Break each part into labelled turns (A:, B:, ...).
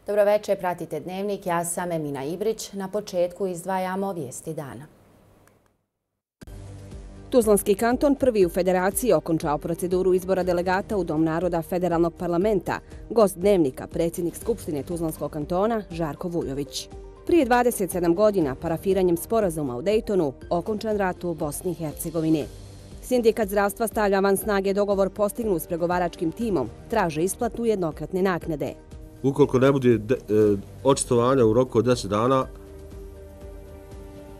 A: Dobro večer, pratite Dnevnik, ja sam Emina Ibrić. Na početku izdvajamo vijesti dana.
B: Tuzlanski kanton prvi u federaciji okončao proceduru izbora delegata u Dom naroda Federalnog parlamenta, gost Dnevnika, predsjednik Skupštine Tuzlanskog kantona Žarko Vujović. Prije 27 godina, parafiranjem sporazuma u Dejtonu, okončan rat u Bosni i Hercegovini. Sindikat zdravstva stavlja van snage dogovor postignut s pregovaračkim timom, traže isplatu jednokratne naknade.
C: Ukoliko ne bude očitovanja u roku od 10 dana,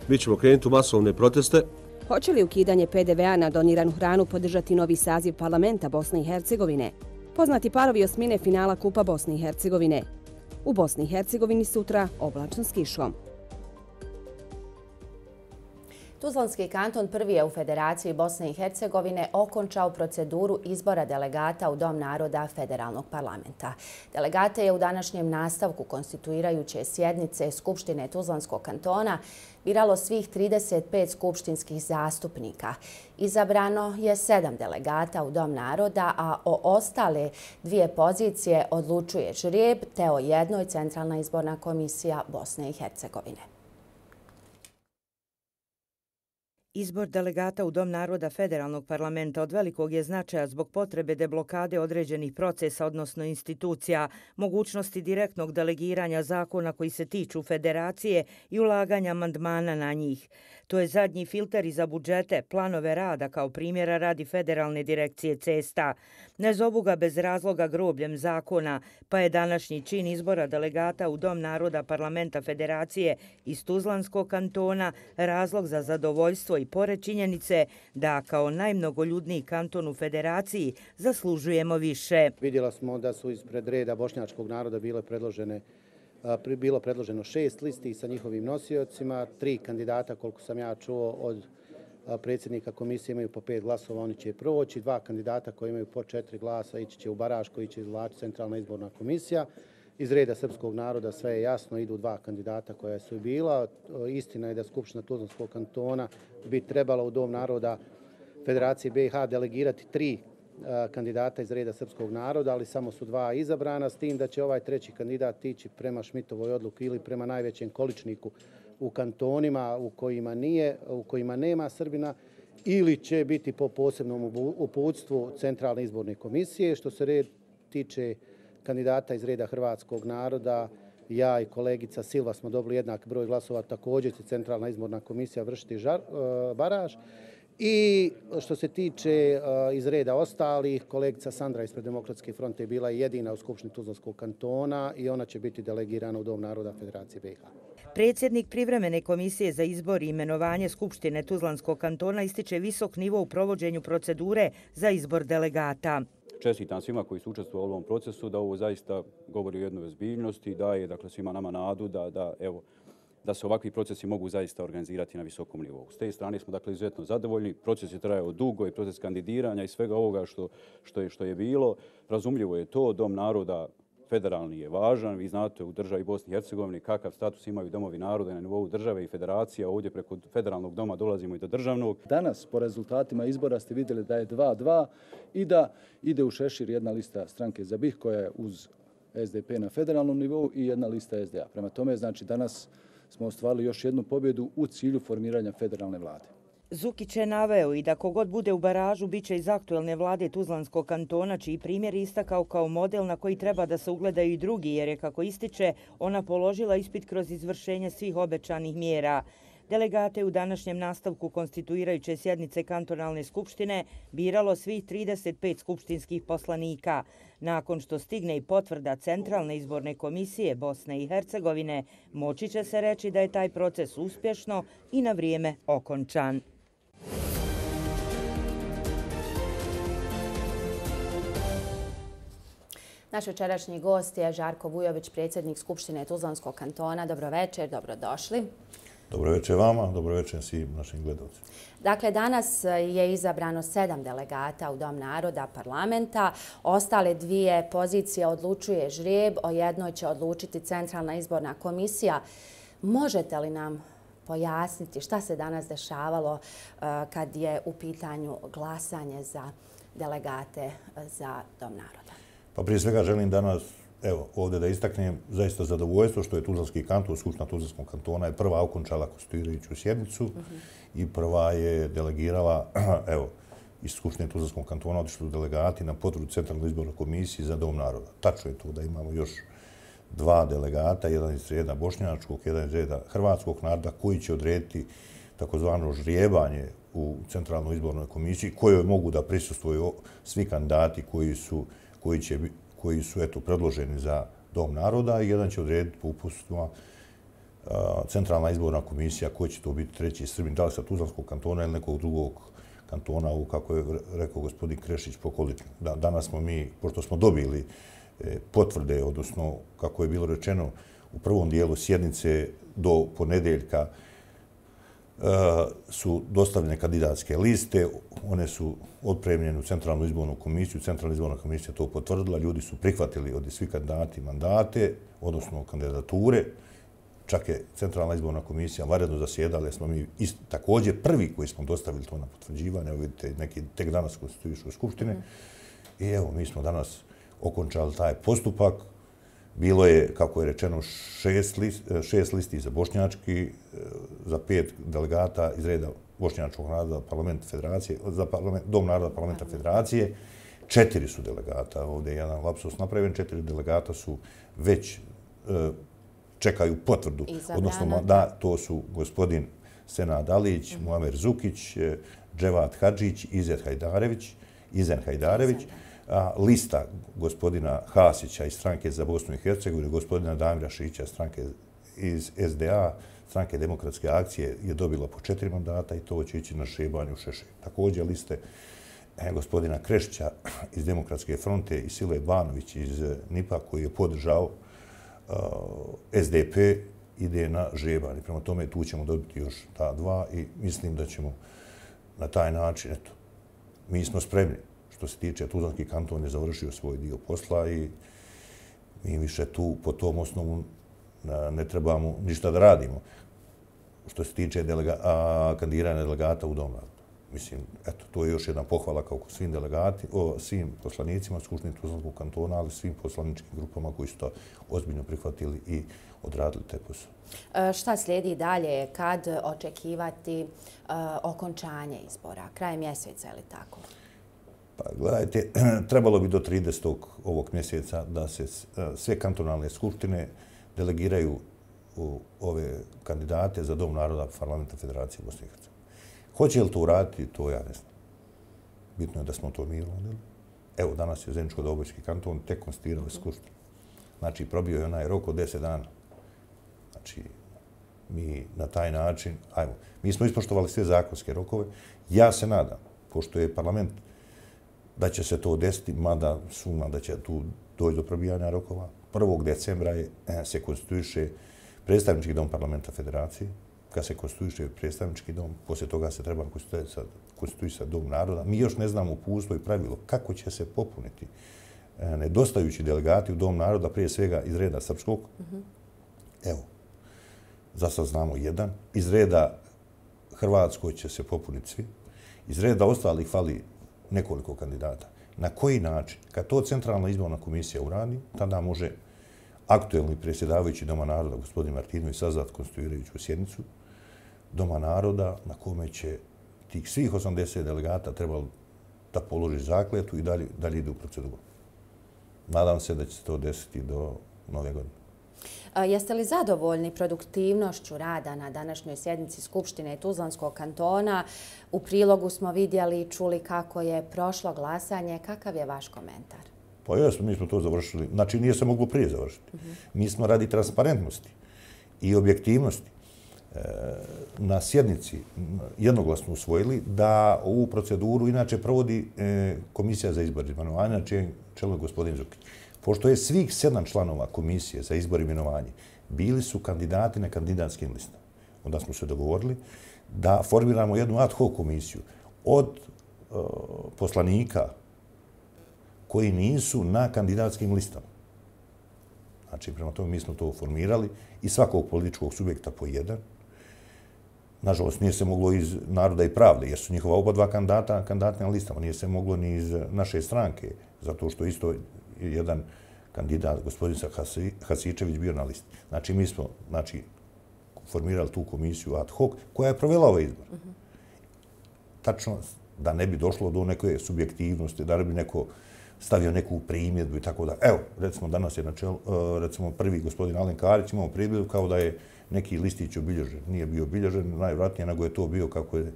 C: mi ćemo krenuti u masovne proteste.
B: Hoće li ukidanje PDV-a na doniranu hranu podržati novi saziv parlamenta Bosne i Hercegovine? Poznati parovi osmine finala Kupa Bosne i Hercegovine. U Bosni i Hercegovini sutra oblačno s kišom.
A: Tuzlanski kanton prvi je u Federaciji Bosne i Hercegovine okončao proceduru izbora delegata u Dom naroda Federalnog parlamenta. Delegate je u današnjem nastavku konstituirajuće sjednice Skupštine Tuzlanskog kantona biralo svih 35 skupštinskih zastupnika. Izabrano je 7 delegata u Dom naroda, a o ostale 2 pozicije odlučuje žrijeb, te o jednoj Centralna izborna komisija Bosne i Hercegovine.
D: Izbor delegata u Dom naroda Federalnog parlamenta od velikog je značaja zbog potrebe deblokade određenih procesa, odnosno institucija, mogućnosti direktnog delegiranja zakona koji se tiču federacije i ulaganja amandmana na njih. To je zadnji filter i za budžete, planove rada kao primjera radi Federalne direkcije cesta. Ne zovu ga bez razloga grobljem zakona, pa je današnji čin izbora delegata u Dom naroda parlamenta Federacije iz Tuzlanskog kantona razlog za zadovoljstvo i pored činjenice da kao najmnogoljudniji kanton u Federaciji zaslužujemo više.
E: Vidjeli smo da su ispred reda bošnjačkog naroda bilo predloženo 6 listi sa njihovim nosiocima, 3 kandidata, koliko sam ja čuo, od predsjednika komisije imaju po 5 glasova, oni će proći, 2 kandidata koji imaju po 4 glasa ići će u baraž koji će izvlačiti Centralna izborna komisija. Iz reda srpskog naroda sve je jasno, idu 2 kandidata koja su bila. Istina je da Skupština Tuzlanskog kantona bi trebala u Dom naroda Federacije BiH delegirati 3 kandidata iz reda srpskog naroda, ali samo su 2 izabrana, s tim da će ovaj 3. kandidat ići prema Šmitovoj odluki ili prema najvećem količniku u kantonima u kojima nema Srbina, ili će biti po posebnom uputstvu Centralne izborne komisije. Što se tiče kandidata iz reda hrvatskog naroda, ja i kolegica Silva smo dobili jednak broj glasova, također će Centralna izborna komisija vršiti baraž. I što se tiče iz reda ostalih, kolegica Sandra ispred Demokratske fronte je bila jedina u Skupštini Tuzlanskog kantona i ona će biti delegirana u Dom naroda Federacije BiH.
D: Predsjednik privremene komisije za izbor i imenovanje Skupštine Tuzlanskog kantona ističe visok nivo u provođenju procedure za izbor delegata.
F: Čestitam svima koji su učestvovali u ovom procesu, da ovo zaista govori o jednoj ozbiljnosti i daje svima nama nadu da se ovakvi procesi mogu zaista organizirati na visokom nivou. S te strane smo izuzetno zadovoljni. Proces je trajao dugo i proces kandidiranja i svega ovoga što je bilo. Razumljivo je to, Dom naroda federalni je važan. Vi znate u državi Bosni i Hercegovini kakav status imaju domovi naroda na nivou države i federacija. Ovdje preko federalnog doma dolazimo i do državnog.
G: Danas po rezultatima izbora ste vidjeli da je 2-2 i da ide u šešir jedna lista stranke za BiH koja je uz SDP na federalnom nivou i jedna lista SDA. Prema tome, znači danas smo ostvarili još jednu pobjedu u cilju formiranja federalne vlade.
D: Zukić je naveo i da kogod bude u baražu bit će iz aktuelne vlade Tuzlanskog kantona, čiji primjer istakao kao model na koji treba da se ugledaju i drugi, jer je, kako ističe, ona položila ispit kroz izvršenje svih obećanih mjera. Delegate u današnjem nastavku konstituirajuće sjednice kantonalne skupštine biralo svih 35 skupštinskih poslanika. Nakon što stigne i potvrda Centralne izborne komisije Bosne i Hercegovine, moći će se reći da je taj proces uspješno i na vrijeme okončan.
A: Naš večerašnji gost je Žarko Vujović, predsjednik Skupštine Tuzlanskog kantona. Dobro večer, dobrodošli.
H: Dobro večer vama, dobro večer svim našim gledalcima.
A: Dakle, danas je izabrano 7 delegata u Dom naroda parlamenta. Ostale 2 pozicije odlučuje žrijeb, o jednoj će odlučiti Centralna izborna komisija. Možete li nam pojasniti šta se danas dešavalo kad je u pitanju glasanje za delegate za Dom naroda?
H: Pa prije svega želim danas evo, ovdje da istaknem zaista zadovoljstvo što je Tuzlanski kanton, Skupština Tuzlanskog kantona je prva okončala konstituirajuću sjednicu i prva je delegirala, evo, iz Skupštine Tuzlanskog kantona otišli delegati na potvrdu Centralne izborne komisije za Dom naroda. Tačno je to da imamo još 2 delegata, jedan iz reda bošnjačkog, jedan iz reda hrvatskog naroda, koji će odrediti takozvano žrijebanje u Centralnoj izbornoj komisiji, kojoj mogu da prisustvuju svi kandidati koji su predloženi za Dom naroda i jedan će odrediti po uputstvima Centralna izborna komisija koji će to biti treći Srbin, da li sa Tuzlanskog kantona ili nekog drugog kantona, kako je rekao gospodin Krešić, pokolično. Danas smo mi, pošto smo dobili potvrde, odnosno, kako je bilo rečeno, u prvom dijelu sjednice do ponedeljka su dostavljene kandidatske liste, one su otpremljene u Centralnu izbornu komisiju, Centralna izborna komisija to potvrdila, ljudi su prihvatili od svih kandidati mandate, odnosno kandidature, čak je Centralna izborna komisija vanredno zasjedala, jer smo mi također prvi koji smo dostavili to na potvrđivanje, vidite, neki tek danas konstituišu Skupštine. I evo, mi smo danas okončali taj postupak. Bilo je, kako je rečeno, 6 listi za bošnjački, za 5 delegata iz reda bošnjačkog naroda parlamenta federacije, za Dom naroda parlamenta federacije. 4 su delegata, ovdje je jedan lapsus napravljen, 4 delegata su već čekaju potvrdu. Odnosno, da, to su gospodin Senad Alić, Muamer Zukić, Dževat Hadžić, Izen Hajdarević, lista gospodina Hasića iz stranke za Bosnu i Hercegovinu, gospodina Damira Šića stranke iz SDA, stranke Demokratske akcije, je dobila po 4 mandata i to će ići na šebanju Šešelj. Također liste gospodina Krešića iz Demokratske fronte i Sile Banović iz NIP-a koji je podržao SDP, ide na žebanje. Prema tome tu ćemo dobiti još ta 2 i mislim da ćemo na taj način, eto, mi smo spremni. Što se tiče, Tuzlanski kanton je završio svoj dio posla i mi više tu po tom osnovu ne trebamo ništa da radimo. Što se tiče kandidiranja delegata u Dom naroda. Mislim, eto, to je još jedna pohvala kao svim poslanicima Skupštine Tuzlanskog kantona, ali svim poslaničkim grupama koji su to ozbiljno prihvatili i odradili taj posao.
A: Šta slijedi dalje? Kad očekivati okončanje izbora? Kraj mjeseca ili tako?
H: Pa gledajte, trebalo bi do 30. ovog mjeseca da se sve kantonalne skupštine delegiraju u ove kandidate za Dom naroda parlamenta Federacije Bosne i Hercegovine. Hoće li to uraditi, to ja ne znam. Bitno je da smo to mi uradili. Evo, danas je Zeničko-Dobojski kanton tek konstituirao skupštinu. Znači, probio je onaj rok od 10 dana. Znači, mi na taj način, mi smo ispoštovali sve zakonske rokove. Ja se nadam, pošto je parlament, da će se to desiti, mada sumnjam da će tu doći do probijanja rokova. 1. decembra se konstituiše predstavnički dom parlamenta federacije. Kad se konstituiše predstavnički dom, poslije toga se treba konstituisati Dom naroda. Mi još ne znamo uputstvo i pravilo kako će se popuniti nedostajući delegati u Dom naroda, prije svega iz reda srpskog. Evo, za sad znamo jedan. Iz reda hrvatskoj će se popuniti svi. Iz reda ostalih fali nekoliko kandidata. Na koji način? Kad to Centralna izborna komisija uradi, tada može aktuelni predsjedavajući Doma naroda, gospodin Martinović, sazvati konstituirajuću sjednicu Doma naroda na kome će tih svih 80 delegata trebalo da položi zakletvu i dalje ide u proceduru. Nadam se da će se to desiti do nove godine.
A: Jeste li zadovoljni produktivnošću rada na današnjoj sjednici Skupštine Tuzlanskog kantona? U prilogu smo vidjeli i čuli kako je prošlo glasanje. Kakav je vaš komentar?
H: Pa jesmo, mi smo to završili. Znači, nije se moglo prije završiti. Mi smo radi transparentnosti i objektivnosti na sjednici jednoglasno usvojili da ovu proceduru inače provodi Komisija za izbor i imenovanje, na čijem čelu je gospodin Zukić. Pošto je svih 7 članova Komisije za izbor i imenovanje bili su kandidati na kandidatskim listama, onda smo se dogovorili da formiramo jednu ad hoc komisiju od poslanika koji nisu na kandidatskim listama. Znači, prema tome mi smo to formirali i svakog političkog subjekta po jedan. Nažalost, nije se moglo iz Naroda i pravde, jer su njihova oba 2 kandidata na listama. Nije se moglo ni iz naše stranke, zato što isto jedan kandidat, gospodin Hasičević, bio na listi. Znači, mi smo formirali tu komisiju ad hoc koja je provela ovaj izbor. Tačno, da ne bi došlo do neke subjektivnosti, da ne bi neko stavio neku primjedbu i tako da. Evo, recimo, danas je na čelu, recimo, prvi gospodin Alen Karić imao primjedbu kao da je neki listić obilježen. Nije bio obilježen, najvjerojatnije nego je to bio kako je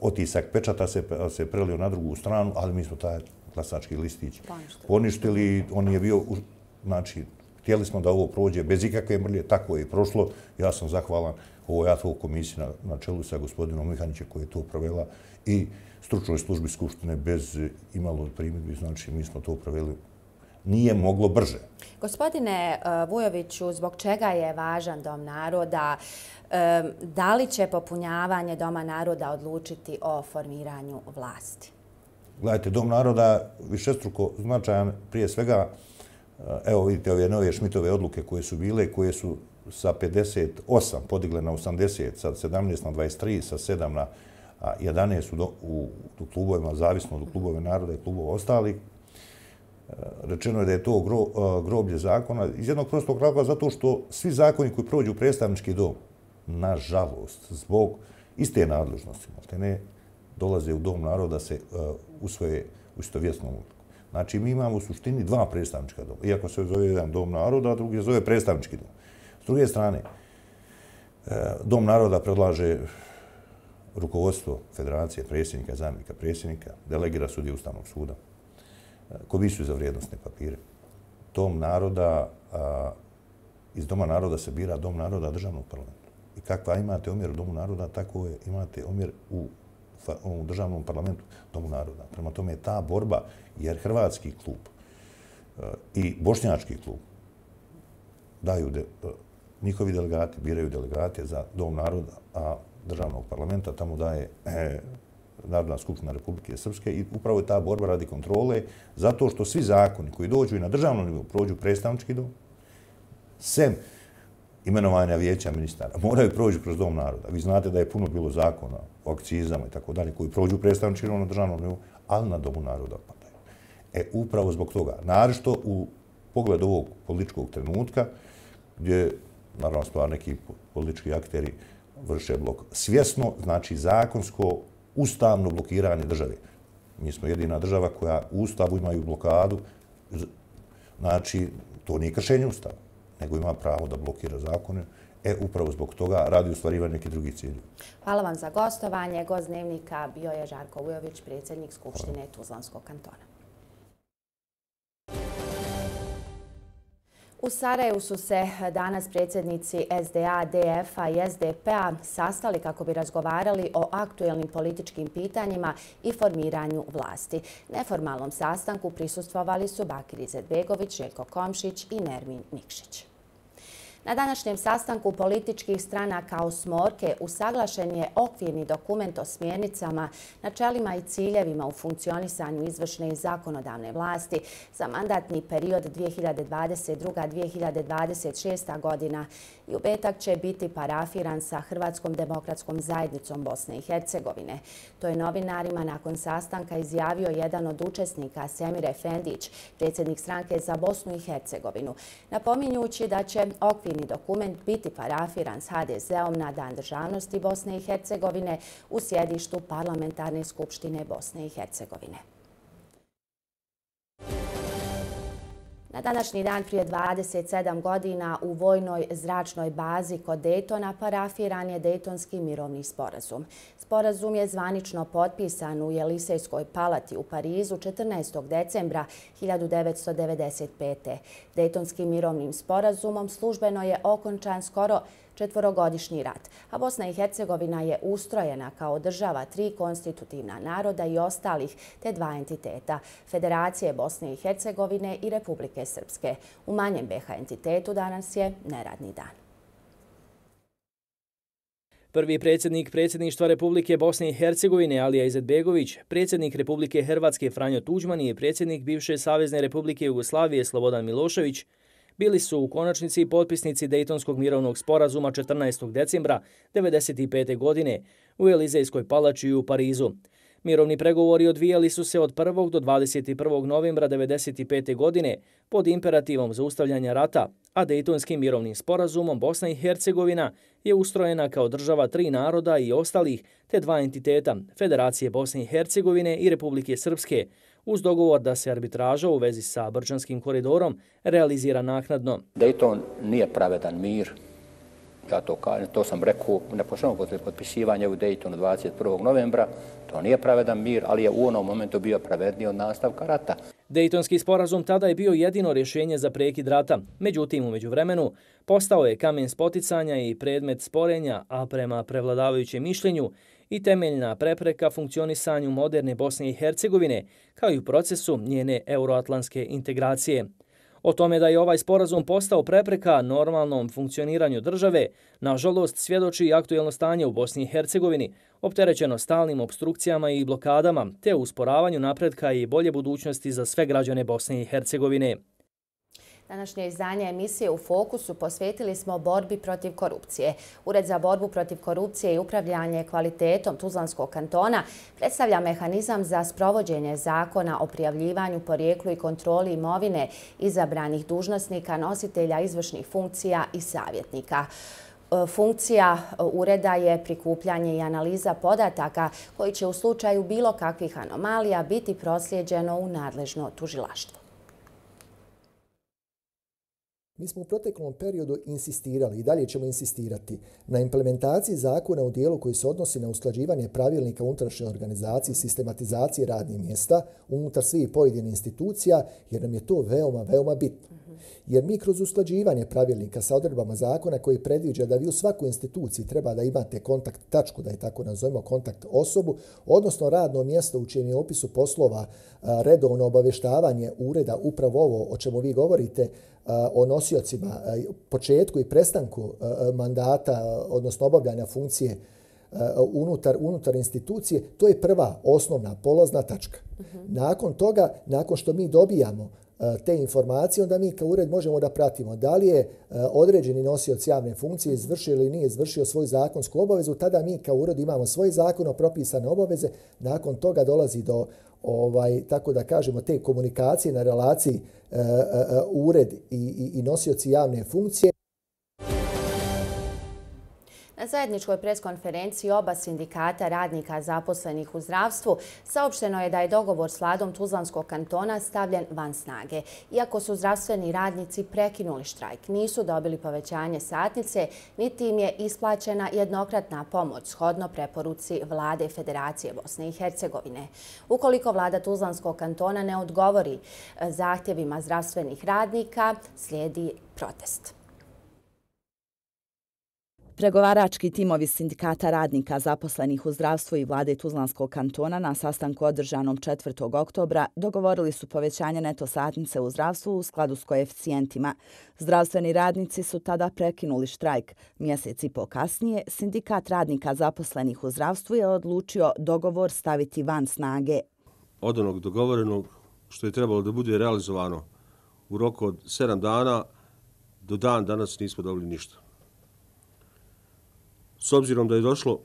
H: otisak pečata se prelio na drugu stranu, ali mi smo taj glasački listić poništili. On je bio, znači, htjeli smo da ovo prođe bez ikakve mrlje, tako je i prošlo. Ja sam zahvalan ovoj ad hoc komisiji na čelu sa gospodinom Mihanićem koji je to provela i stručnoj službi Skupštine bez imalo primjedbi, znači mi smo to proveli. Nije moglo brže.
A: Gospodine Vujoviću, zbog čega je važan Dom naroda? Da li će popunjavanje Doma naroda odlučiti o formiranju vlasti?
H: Gledajte, Dom naroda višestruko značajan, prije svega, evo vidite ove nove Šmitove odluke koje su bile, koje su sa 58 podigle na 80, sa 17 na 23, sa 7 na 11 u klubovima, zavisno od klubova naroda i klubova ostalih. Rečeno je da je to groblje zakona iz jednog prostog razloga zato što svi zakoni koji prođu u predstavnički dom, nažalost, zbog iste nadležnosti, ne dolaze u Dom naroda se usvoje u istovjesnom odluku. Znači, mi imamo u suštini dva predstavnička doma. Iako se zove jedan Dom naroda, a drugi se zove predstavnički dom. S druge strane, Dom naroda predlaže rukovodstvo federacije, predsjednika, zamjenika predsjednika, delegira sudije Ustavnog suda, komisiju za vrijednosne papire. Dom naroda, iz Doma naroda se bira Dom naroda državnog parlamenta. I kakva imate omjer u Domu naroda, tako imate omjer u državnom parlamentu Domu naroda. Prema tome je ta borba, jer hrvatski klub i bošnjački klub daju, njihovi delegati biraju delegate za Dom naroda, a državnog parlamenta tamo daje Narodna skupština Republike Srpske i upravo je ta borba radi kontrole zato što svi zakoni koji dođu i na državnom nivou prođu predstavnički dom, sem imenovanja vijeća ministara, moraju proći kroz Dom naroda. Vi znate da je puno bilo zakona o akcizama i tako dalje koji prođu predstavnički dom na državnom nivou, ali na Domu naroda padaju. Upravo zbog toga, naročito u pogledu ovog političkog trenutka, gdje, naravno, stvar neki politički akteri vrše blok. Svjesno, znači zakonsko, ustavno blokiranje države. Mi smo jedina država koja u Ustavu imaju blokadu. Znači, to nije kršenje Ustava, nego ima pravo da blokira zakone. Upravo zbog toga radi ostvarivanje nekih drugih cilja.
A: Hvala vam za gostovanje. Gost Dnevnika bio je Žarko Vujović, predsjednik Skupštine Tuzlanskog kantona. U Sarajevu su se danas predsjednici SDA, DF-a i SDP-a sastali kako bi razgovarali o aktuelnim političkim pitanjima i formiranju vlasti. Neformalnom sastanku prisustvovali su Bakir Izetbegović, Željko Komšić i Nermin Nikšić. Na današnjem sastanku političkih stranaka osmorke usaglašen je okvirni dokument o smjernicama, načelima i ciljevima u funkcionisanju izvršne i zakonodavne vlasti za mandatni period 2022-2026. godina i u petak će biti parafiran sa Hrvatskom demokratskom zajednicom Bosne i Hercegovine. To je novinarima nakon sastanka izjavio jedan od učesnika, Semir Efendić, predsjednik stranke za Bosnu i Hercegovinu, napominjući da će okvirni dokument biti parafiran s HDZ-om na Dan državnosti Bosne i Hercegovine u sjedištu Parlamentarne skupštine Bosne i Hercegovine. Na današnji dan prije 27 godina u vojnoj zračnoj bazi kod Dejtona parafiran je Dejtonski mirovni sporazum. Sporazum je zvanično potpisan u Jelisejskoj palati u Parizu 14. decembra 1995. Dejtonskim mirovnim sporazumom službeno je okončan skoro četvorogodišnji rat, a Bosna i Hercegovina je ustrojena kao država 3 konstitutivna naroda i ostalih te 2 entiteta, Federacije Bosne i Hercegovine i Republike Srpske. U manjem BiH entitetu danas je neradni dan.
I: Prvi predsjednik predsjedništva Republike Bosne i Hercegovine Alija Izetbegović, predsjednik Republike Hrvatske Franjo Tuđman i predsjednik bivše Savezne Republike Jugoslavije Slobodan Milošević bili su u konačnici potpisnici Dejtonskog mirovnog sporazuma 14. decembra 1995. godine u Elizejskoj palači u Parizu. Mirovni pregovori odvijali su se od 1. do 21. novembra 1995. godine pod imperativom zaustavljanja rata, a Dejtonskim mirovnim sporazumom Bosna i Hercegovina je ustrojena kao država 3 naroda i ostalih, te 2 entiteta, Federacije Bosne i Hercegovine i Republike Srpske, uz dogovor da se arbitraža u vezi sa Brčanskim koridorom realizira naknadno.
J: Dejton nije pravedan mir. Ja to kažem, to sam rekao neposredno posle potpisivanja u Dejtonu 21. novembra. To nije pravedan mir, ali je u onom momentu bio pravedniji od nastavka rata.
I: Dejtonski sporazum tada je bio jedino rješenje za prekid rata. Međutim, u međuvremenu postao je kamen spoticanja i predmet sporenja, a prema prevladavajućem mišljenju i temeljna prepreka funkcionisanju moderne Bosne i Hercegovine, kao i u procesu njene euroatlantske integracije. O tome da je ovaj sporazum postao prepreka normalnom funkcioniranju države, nažalost svjedoči i aktuelno stanje u Bosni i Hercegovini, opterećeno stalnim obstrukcijama i blokadama, te usporavanju napretka i bolje budućnosti za sve građane Bosne i Hercegovine.
A: Današnje izdanje emisije U fokusu posvetili smo borbi protiv korupcije. Ured za borbu protiv korupcije i upravljanje kvalitetom Tuzlanskog kantona predstavlja mehanizam za sprovođenje zakona o prijavljivanju, porijeklu i kontroli imovine izabranih dužnosnika, nositelja izvršnih funkcija i savjetnika. Funkcija ureda je prikupljanje i analiza podataka koji će u slučaju bilo kakvih anomalija biti proslijeđeno u nadležno tužilaštvo.
K: Mi smo u proteklom periodu insistirali i dalje ćemo insistirati na implementaciji zakona u dijelu koji se odnosi na usklađivanje pravilnika unutrašnje organizacije, sistematizacije radnih mjesta unutar svih pojedinih institucija, jer nam je to veoma, veoma bitno. Jer mi kroz usklađivanje pravilnika sa odredbama zakona koji predviđa da vi u svakoj instituciji treba da imate kontakt tačku, da je tako nazovemo, kontakt osobu, odnosno radno mjesto u čijem je opisu poslova redovno obavještavanje ureda, upravo ovo o čemu vi govorite, o nosiocima, početku i prestanku mandata, odnosno obavljanja funkcije unutar institucije, to je prva osnovna polazna tačka. Nakon toga, nakon što mi dobijamo te informacije, onda mi kao ured možemo da pratimo da li je određeni nosioc javne funkcije izvršio ili nije izvršio svoju zakonsku obavezu, tada mi kao ured imamo svoje zakono propisane obaveze, nakon toga dolazi do tako da kažemo, te komunikacije na relaciji ured i nosioci javne funkcije.
A: Na zajedničkoj preskonferenciji oba sindikata radnika zaposlenih u zdravstvu saopšteno je da je dogovor s vladom Tuzlanskog kantona stavljen van snage. Iako su zdravstveni radnici prekinuli štrajk, nisu dobili povećanje satnice, niti im je isplaćena jednokratna pomoć shodno preporuci Vlade Federacije Bosne i Hercegovine. Ukoliko vlada Tuzlanskog kantona ne odgovori zahtjevima zdravstvenih radnika, slijedi protest.
L: Pregovarački timovi sindikata radnika zaposlenih u zdravstvu i vlade Tuzlanskog kantona na sastanku održanom 4. oktobra dogovorili su povećanje neto satnice u zdravstvu u skladu s koeficijentima. Zdravstveni radnici su tada prekinuli štrajk. Mjesec i po kasnije, sindikat radnika zaposlenih u zdravstvu je odlučio dogovor staviti van snage.
C: Od onog dogovorenog što je trebalo da bude realizovano u roku od 7 dana, do dan danas nismo dobili ništa. S obzirom da je došlo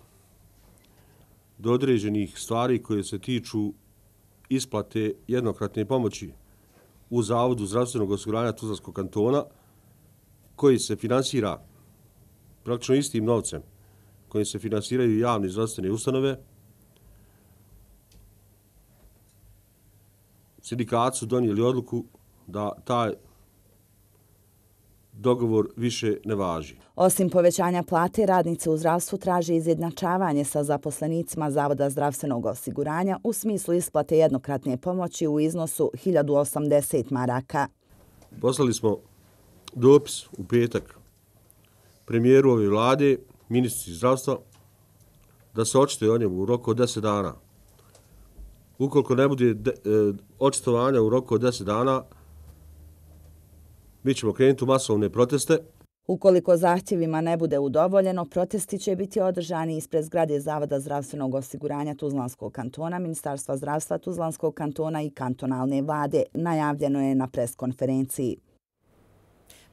C: do određenih stvari koje se tiču isplate jednokratne pomoći u Zavodu zdravstvenog osiguranja Tuzlanskog kantona, koji se finansira praktično istim novcem kojim se finansiraju javne zdravstvene ustanove, sindikati su donijeli odluku da taj dogovor više ne važi.
L: Osim povećanja plate, radnice u zdravstvu traže izjednačavanje sa zaposlenicima Zavoda zdravstvenog osiguranja u smislu isplate jednokratne pomoći u iznosu 1080 maraka.
C: Poslali smo dopis u petak premijeru ove vlade, ministrici zdravstva, da se očituje o njemu u roku od 10 dana. Ukoliko ne bude očitovanja u roku od 10 dana, mi ćemo krenuti u masovne proteste.
L: Ukoliko zahtjevima ne bude udovoljeno, protesti će biti održani ispred zgrade Zavoda zdravstvenog osiguranja Tuzlanskog kantona, Ministarstva zdravstva Tuzlanskog kantona i kantonalne vlade, najavljeno je na preskonferenciji.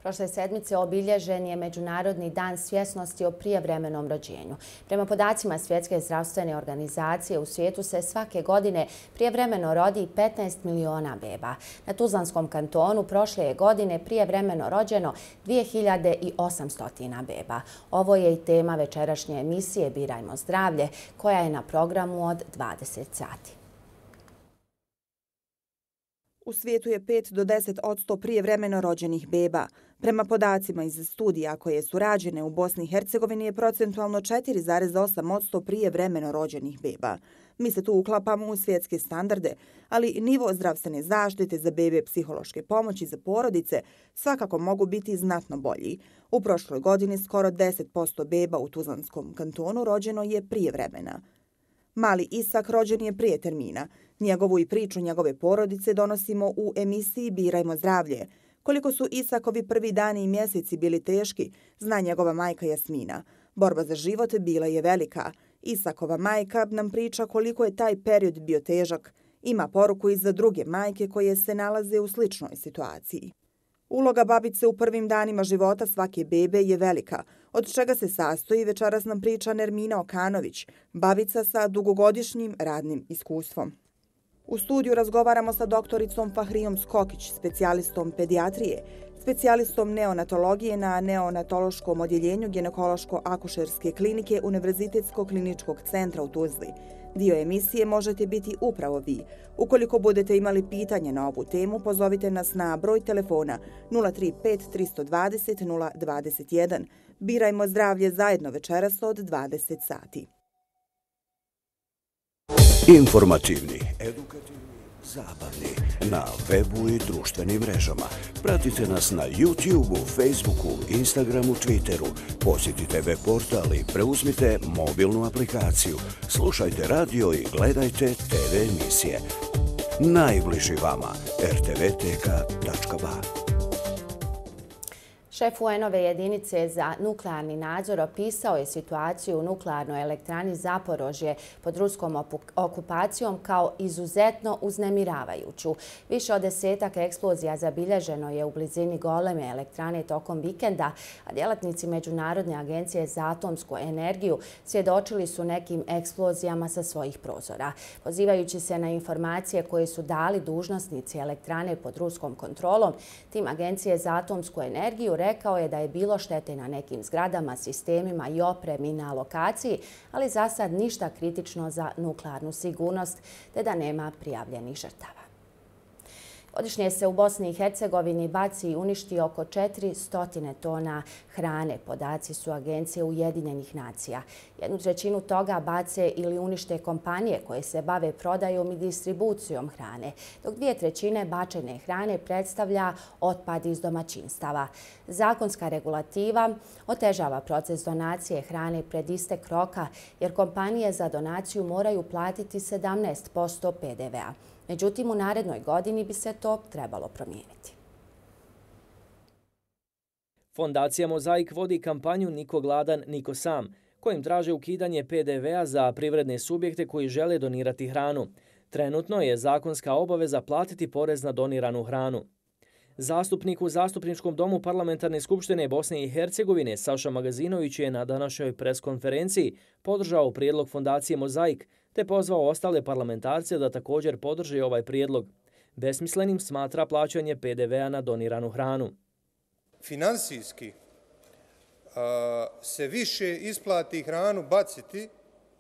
A: Prošle sedmice obilježen je Međunarodni dan svjesnosti o prijevremenom rođenju. Prema podacima Svjetske zdravstvene organizacije, u svijetu se svake godine prijevremeno rodi 15 miliona beba. Na Tuzlanskom kantonu prošle je godine prijevremeno rođeno 2800 beba. Ovo je i tema večerašnje emisije Birajmo zdravlje, koja je na programu od 20 sati.
M: U svijetu je 5 do 10% prijevremeno rođenih beba. Prema podacima iz studija koje su rađene u Bosni i Hercegovini je procentualno 4,8% prijevremeno rođenih beba. Mi se tu uklapamo u svjetske standarde, ali nivo zdravstvene zaštite za bebe, psihološke pomoći za porodice svakako mogu biti znatno bolji. U prošloj godini skoro 10% beba u Tuzlanskom kantonu rođeno je prijevremena. Mali Isak rođen je prije termina. Njegovu i priču njegove porodice donosimo u emisiji Birajmo zdravlje. Koliko su Isakovi prvi dani i mjeseci bili teški, zna njegova majka Jasmina. Borba za život bila je velika. Isakova majka nam priča koliko je taj period bio težak. Ima poruku i za druge majke koje se nalaze u sličnoj situaciji. Uloga babice u prvim danima života svake bebe je velika, od čega se sastoji večeras nam priča Nermina Okanović, babica sa dugogodišnjim radnim iskustvom. U studiju razgovaramo sa doktoricom Fahrijom Skokić, specijalistom pedijatrije, specijalistom neonatologije na neonatološkom odjeljenju ginekološko-akušerske klinike Univerzitetskog kliničkog centra u Tuzli. Dio emisije možete biti upravo vi. Ukoliko budete imali pitanje na ovu temu, pozovite nas na broj telefona 035 320 021. Birajmo zdravlje zajedno večeras od 20 sati.
N: Informativni, edukativni, zabavni, na webu i društvenim mrežama. Pratite nas na YouTubeu, Facebooku, Instagramu, Twitteru. Posjetite web portal i preuzmite mobilnu aplikaciju. Slušajte radio i gledajte TV emisije. Najbliži vama rtvtk.ba.
A: Šef UN-ove jedinice za nuklearni nadzor opisao je situaciju u nuklearnoj elektrani Zaporožje pod ruskom okupacijom kao izuzetno uznemiravajuću. Više od 10 eksplozija zabilježeno je u blizini goleme elektrane tokom vikenda, a djelatnici Međunarodne agencije za atomsku energiju svjedočili su nekim eksplozijama sa svojih prozora. Pozivajući se na informacije koje su dali dužnosnici elektrane pod ruskom kontrolom, tim Agencije za atomsku energiju rekao je da je bilo štete na nekim zgradama, sistemima i opremi na lokaciji, ali za sad ništa kritično za nuklearnu sigurnost, te da nema prijavljenih žrtava. Godišnje se u Bosni i Hercegovini baci i uništi oko 400 tona hrane. Podaci su Agencije Ujedinjenih nacija. 1/3 toga bace ili unište kompanije koje se bave prodajom i distribucijom hrane, dok 2/3 bačene hrane predstavlja otpad iz domaćinstava. Zakonska regulativa otežava proces donacije hrane pred istek roka, jer kompanije za donaciju moraju platiti 17% PDV-a. Međutim, u narednoj godini bi se to trebalo promijeniti.
I: Fondacija Mozaik vodi kampanju Niko gladan, niko sam, kojim traže ukidanje PDV-a za privredne subjekte koji žele donirati hranu. Trenutno je zakonska obaveza platiti porez na doniranu hranu. Zastupnik u Zastupničkom domu Parlamentarne skupštine Bosne i Hercegovine Saša Magazinović je na današnjoj preskonferenciji podržao prijedlog Fondacije Mozaik te pozvao ostale parlamentarce da također podrže ovaj prijedlog. Besmislenim smatra plaćanje PDV-a na doniranu hranu.
O: Finansijski se više isplati hranu baciti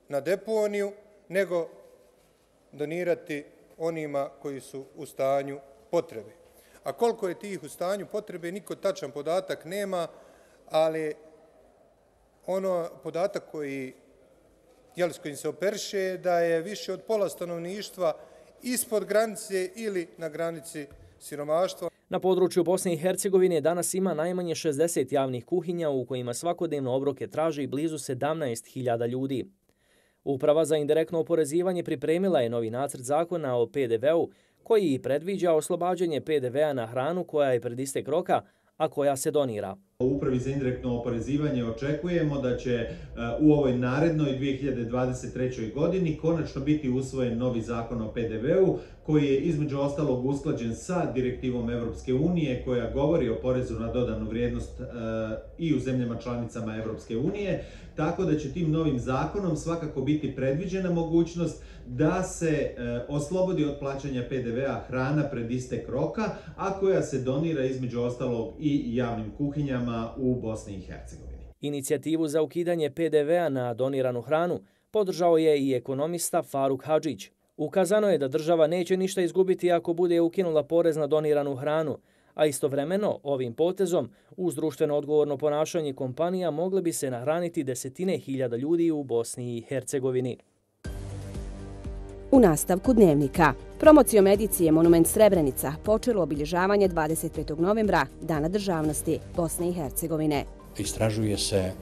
O: na deponiju nego donirati onima koji su u stanju potrebe. A koliko je tih u stanju potrebe, niko tačan podatak nema, ali podatak s kojim se operiše je da je više od pola stanovništva ispod granice ili na granici siromaštva.
I: Na području Bosne i Hercegovine danas ima najmanje 60 javnih kuhinja u kojima svakodnevno obroke traži blizu 17.000 ljudi. Uprava za indirektno oporezivanje pripremila je novi nacrt zakona o PDV-u koji predviđa oslobađanje PDV-a na hranu koja je pred istek roka, a koja se donira.
P: U Upravi za indirektno oporezivanje očekujemo da će u ovoj narednoj 2023. godini konačno biti usvojen novi zakon o PDV-u koji je između ostalog usklađen sa direktivom Evropske unije koja govori o porezu na dodanu vrijednost i u zemljama članicama Evropske unije, tako da će tim novim zakonom svakako biti predviđena mogućnost da se oslobodi od plaćanja PDV-a hrana pred istek roka, a koja se donira između ostalog i javnim kuhinjama u Bosni i Hercegovini.
I: Inicijativu za ukidanje PDV-a na doniranu hranu podržao je i ekonomista Faruk Hadžić. Ukazano je da država neće ništa izgubiti ako bude ukinula porez na doniranu hranu, a istovremeno ovim potezom uz društveno odgovorno ponašanje kompanija mogle bi se nahraniti desetine hiljada ljudi u Bosni i Hercegovini.
B: U nastavku Dnevnika. Promocijom edicije Monument Srebrenica počelo obilježavanje 25. novembra, Dana državnosti Bosne i Hercegovine.
Q: Istražuje se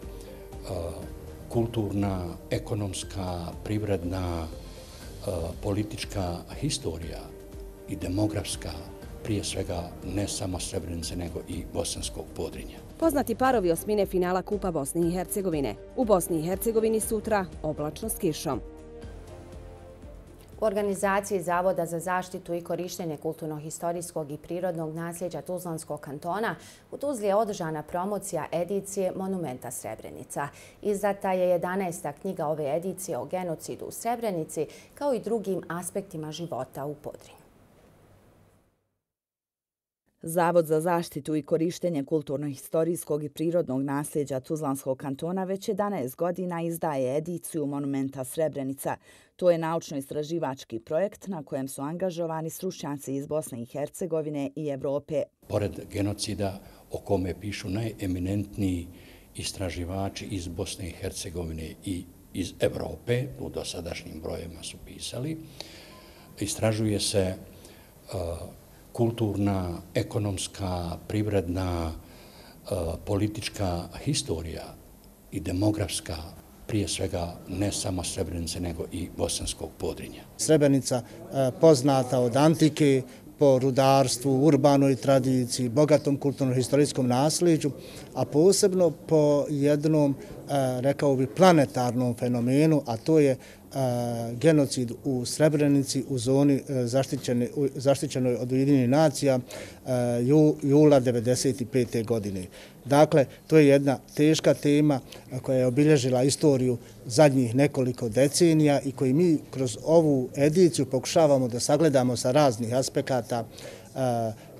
Q: kulturna, ekonomska, privredna, politička historija i demografska, prije svega ne samo Srebrenice nego i bosanskog Podrinja.
B: Poznati parovi osmine finala Kupa Bosne i Hercegovine. U Bosni i Hercegovini sutra oblačno s kišom.
A: U organizaciji Zavoda za zaštitu i korištenje kulturno-historijskog i prirodnog nasljeđa Tuzlanskog kantona u Tuzli je održana promocija edicije Monumenta Srebrenica. Izdata je 11. knjiga ove edicije o genocidu u Srebrenici kao i drugim aspektima života u Podrinju.
L: Zavod za zaštitu i korištenje kulturno-historijskog i prirodnog nasljeđa Tuzlanskog kantona već 11 godina izdaje ediciju Monumenta Srebrenica. To je naučno-istraživački projekt na kojem su angažovani stručnjaci iz Bosne i Hercegovine i Evrope.
Q: Pored genocida o kome pišu najeminentniji istraživači iz Bosne i Hercegovine i iz Evrope, u dosadašnjim brojevima su pisali, istražuje se kulturna, ekonomska, privredna, politička historija i demografska, prije svega ne samo Srebrenice nego i bosanskog Podrinja.
R: Srebrenica poznata od antike po rudarstvu, urbanoj tradiciji, bogatom kulturno-historijskom nasljeđu, a posebno po jednom, rekao bi, planetarnom fenomenu, a to je genocid u Srebrenici u zoni zaštićenoj od Ujedinjenih nacija jula 1995. godine. Dakle, to je jedna teška tema koja je obilježila istoriju zadnjih nekoliko decenija i koju mi kroz ovu ediciju pokušavamo da sagledamo sa raznih aspekata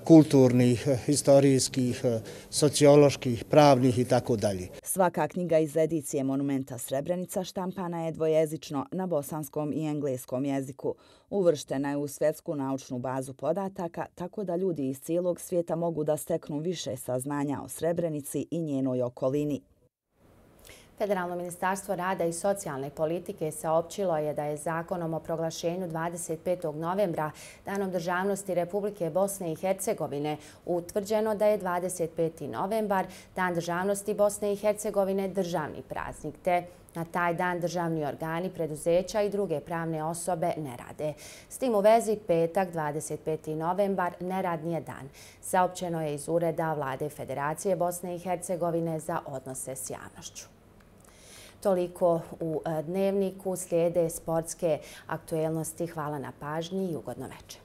R: kulturnih, historijskih, socioloških, pravnih i tako dalje.
L: Svaka knjiga iz edicije Monumenta Srebrenica štampana je dvojezično na bosanskom i engleskom jeziku. Uvrštena je u svjetsku naučnu bazu podataka, tako da ljudi iz cijelog svijeta mogu da steknu više saznanja o Srebrenici i njenoj okolini.
A: Federalno ministarstvo rada i socijalne politike saopćilo je da je zakonom o proglašenju 25. novembra, Danom državnosti Republike Bosne i Hercegovine, utvrđeno da je 25. novembar, Dan državnosti Bosne i Hercegovine, državni praznik, te na taj dan državni organi, preduzeća i druge pravne osobe ne rade. S tim u vezi petak, 25. novembar, neradni je dan. Saopćeno je iz Ureda Vlade Federacije Bosne i Hercegovine za odnose s javnošću. Toliko u Dnevniku, slijede sportske aktuelnosti. Hvala na pažnji i ugodno večer.